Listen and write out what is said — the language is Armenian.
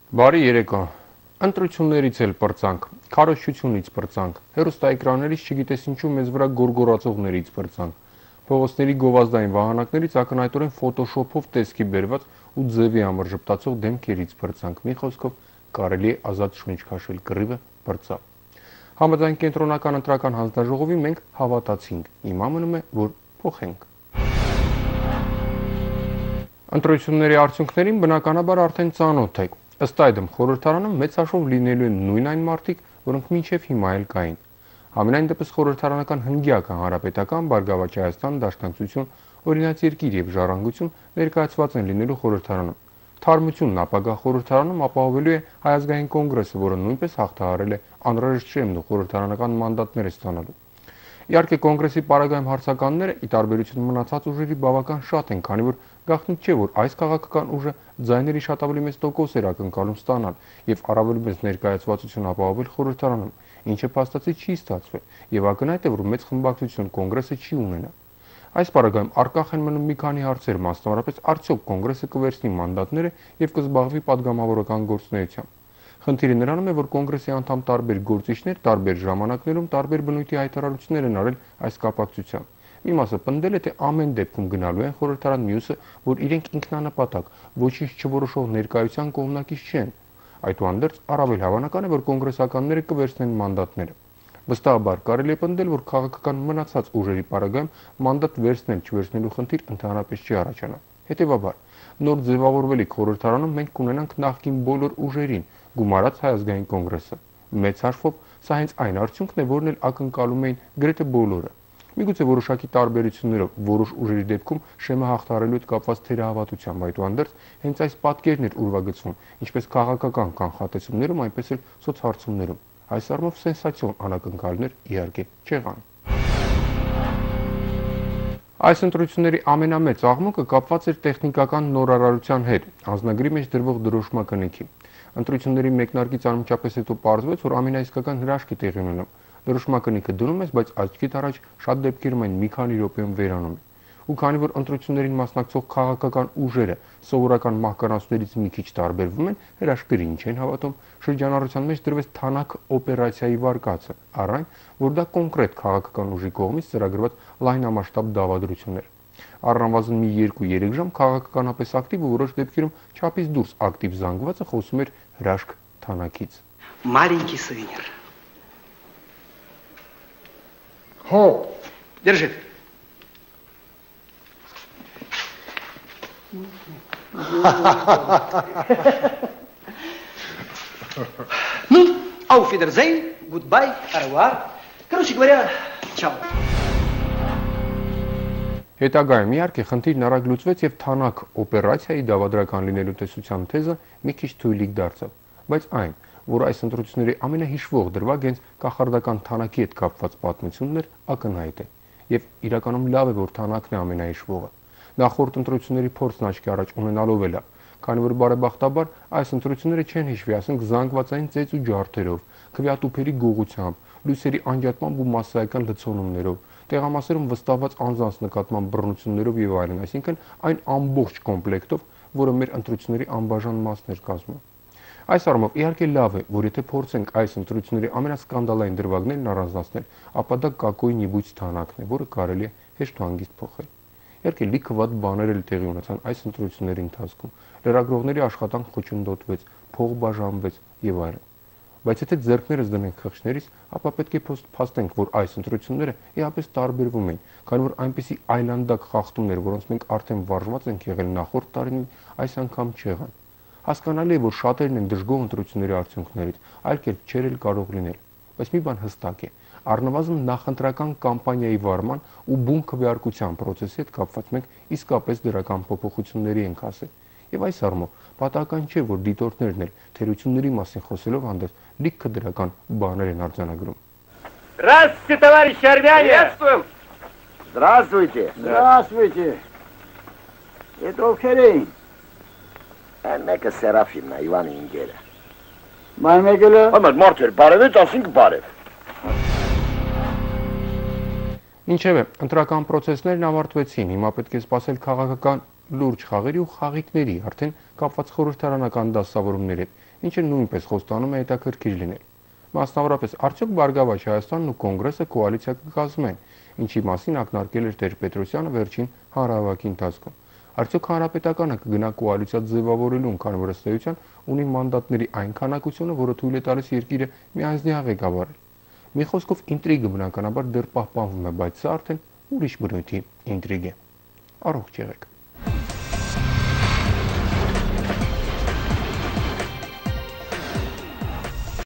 Բարի երեկո։ Ընտրություններից էլ պրծանք, քարոզչությունից պրծանք, հեռուստաէկրաններից չգիտես ինչու մեզ վրա գորգորածողներից պրծանք, փողոցների գովազդային վահանակներից ակնհայտորեն ֆոտոշոփով տեսքի բերված ու ձևի համար ժպտացող դեմքերից պրծանք։ Մի խոսքով կարելի է ազատ շունչ քաշել, կռիվը պրծավ։ Համաձայն կենտրոնական ընտրական հանձնաժողովի մենք հավատացինք, հիմա մնում է, որ փոխենք։ Ընտրությունների արդյունքներին բնականաբար արդեն ծանոթ եք։ Ըստ այդմ խորհրդարանում մեծ հաշվով լինելու են նույն այն մարդիկ, որոնք մինչև հիմա էլ կային։ Համենայն դեպս խորհրդարանական հնգյակը Հանրապետական, Բարգավաճ Հայաստան, Դաշնակցություն, Օրինաց երկիր եւ Ժառանգություն ներկայացված են լինելու խորհրդարանում։ Թարմությունն ապագա խորհրդարանում ապահովելու է Հայ ազգային կոնգրեսը, որը նույնպես հաղթահարել է անհրաժեշտ շեմն ու խորհրդարանական մանդատներ ստանալու։ Իհարկե կոնգրեսի պարագայում հարցականները ի տարբերություն մնացած ուժերի բավական շատ են, քանի որ գաղտնիք չէ, որ այս քաղաքական ուժը ձայների շատ ավելի մեծ տոկոս էր ակնկալում ստանալ եւ առավել մեծ ներկայացվածություն ապահովել խորհրդարանում, ինչը փաստացի չի ստացվել եւ ակնհայտ է, որ մեծ խմբակցություն կոնգրեսը չի ունենա։ Այս պարագայում առկախ են մնում մի քանի հարցեր, մասնավորապես արդյոք կոնգրեսը կվերցնի մանդատները եւ կզբաղվի падգամավորական գործունեությամբ։ Խնդիրը նրանում է, որ կոնգրեսի անդամ տարբեր գործիչներ տարբեր ժամանակներում տարբեր բնույթի հայտարարություններ են արել այս կապակցությամբ։ Մի մասը պնդել է, թե ամեն դեպքում գնալու են խորհրդարան, մյուսը, որ իրենք ինքնանպատակ ոչինչ չորոշող ներկայության կողմնակից չեն։ Այդուհանդերձ առավել հավանական է, որ կոնգրեսականները կվերցնեն մանդատները։ Վստահաբար կարելի է պնդել, որ քաղաքական մնացած ուժերի պարագայում մանդատ վերցնել-չվերցնելու խնդիր ընդհանրապես չի առաջանա։ Հետևաբար, նոր ձևավորվելիք խորհրդարանում մենք կունենանք նախկին բոլոր ուժերին, գումարած Հայ ազգային կոնգրեսը։ Մեծ հաշվով սա հենց այն արդյունքն է, որն էլ ակնկալում էին գրեթե բոլորը։ Միգուցե որոշակի տարբերություններով որոշ ուժերի դեպքում շեմը հաղթահարելու հետ կապված թերահավատությամբ, այդուհանդերձ հենց այս պատկերն էր ուրվագծվում, ինչպես քաղաքական կանխատեսումներում, այնպես էլ սոցհարցումներում։ Այս առումով սենսացիոն անակնկալներ իհարկե չեղան։ Այս ընտրությունների ամենամեծ աղմուկը կապված էր տեխնիկական նորարարության հետ, անձնագրի մեջ դրվող դրոշմակնիքի։ Ընտրությունների մեկնարկից անմիջապես հետո պարզվեց, որ ամենաիսկական հրաշք է տեղի ունենում։ Դրոշմակնիքը դնում ես, բայց աչքիդ առաջ շատ դեպքերում այն մի քանի րոպեում վերանում է։ Ու քանի որ ընտրություններին մասնակցող քաղաքական ուժերը սովորական մահկանացուներից մի քիչ տարբերվում են, հրաշքներին չեն հավատում, շրջանառության մեջ դրվեց թանաք օպերացիայի վարկածը, առայն, որ դա կոնկրետ քաղաքական ուժի կողմից ծրագրված լայնամասշտաբ դավադրություն էր։ Առնվազն մի 2-3 ժամ քաղաքականապես ակտիվ ու որոշ դեպքերում չափից դուրս ակտիվ զանգվածը խոսում էր հրաշք թանաքից։ Маленький сувенир. Հո, Держи. Ну, auf Wiedersehen, goodbye, au revoir. Короче говоря, чао. Հետագայում իհարկե խնդիրն արագ լուծվեց եւ թանաք օպերացիայի դավադրական լինելու տեսության թեզը մի քիչ թույլիկ դարձավ, բայց այն, որ այս ընտրությունների ամենահիշվող դրվագ հենց կախարդական թանակի հետ կապված պատմությունն էր, ակնհայտ է եւ իրականում լավ է, որ թանակն է ամենահիշվողը։ Նախորդ ընտրությունների փորձն աչքի առաջ ունենալով է լավ, քանի որ բարեբախտաբար այս ընտրությունները չեն հիշվի, ասենք զանգվածային ծեծ ու ջարդերով, քվեատուփերի գողությամբ, լույսերի անջատմամբ ու մասսայական լցոնումներով, տեղամասերում վստահված անձանց նկատմամբ բռնություններով եւ այլն, այսինքն այն ամբողջ կոմպլեկտով, որը մեր ընտրությունների անբաժան մասն էր կազմում։ Այս առումով իհարկե լավ է, որ եթե փորձենք այս ընտրությունների ամենասկանդալային դրվագներն առանձնացնել, ապա դա կակոյի նիբույց թանակն է, որը կարելի է հեշտ ու հանգիստ փոխել։ Իհարկե լիքը վատ բաներ էլ տեղի ունեցան այս ընտրությունների ընթացքում։ Լրագրողների աշխատանք խոչընդոտվեց, փող բաժանվեց եւ այլն։ Բայց եթե ձեռքներս դնենք խղճներից, ապա պետք է փաստենք, որ այս ընտրությունները իհապես տարբերվում են, քանի որ այնպիսի այլանդակ խախտումներ, որոնց մենք արդեն վարժված ենք եղել նախորդ տարին, այս անգամ չեղան։ Հասկանալի է, որ շատերն են դժգոհ ընտրությունների արդյունքներից, այլ կերպ չէր էլ կարող լինել։ Բայց մի բան հստակ է, առնվազն նախընտրական կամպանիայի վարման ու բուն քվեարկության process-ի հետ կապված մենք իսկապես դրական փոփոխությունների ենք ասել։ Եվ այս առումով պատահական չէ, որ դիտորդներն էլ թերությունների մասին խոսելով հանդերձ լիքը դրական բաներ են արձանագրում։ Здравствуйте, товарищи армяне! Приветствуем. Здравствуйте. Здравствуйте. Это ովքեր Մեկը Սերաֆիմն է, Իվանի ինգերը։ Ման մեկը Ամեն մարդեր բարևեց, ասինք բարև։ Ինչևէ, ընտրական process-ներն ավարտվեցին, հիմա պետք է սպասել քաղաքական լուրջ խաղերի ու խաղիկների, արդեն կապված խորհրդարանական դասավորումների հետ։ ինչը նույնպես խոստանում է հետաքրքիր լինել։ Մասնավորապես, արդյոք Բարգավաճ Հայաստանն ու Կոնգրեսը կոալիցիա կկազմեն, ինչի մասին ակնարկել էր Տեր-Պետրոսյանը վերջին հանրահավաքի ընթացքում։ Արդյոք Հանրապետականը կգնա կոալիցիա ձևավորելուն, քանի որ ըստ էության ունի մանդատների այն քանակությունը, որը թույլ է տալիս երկիրը միանձնյա ղեկավարել։ Մի խոսքով ինտրիգը բնականաբար դեռ պահպանվում է, բայց սա արդեն ուրիշ բնույթի ինտրիգ է։ Առողջ եղեք։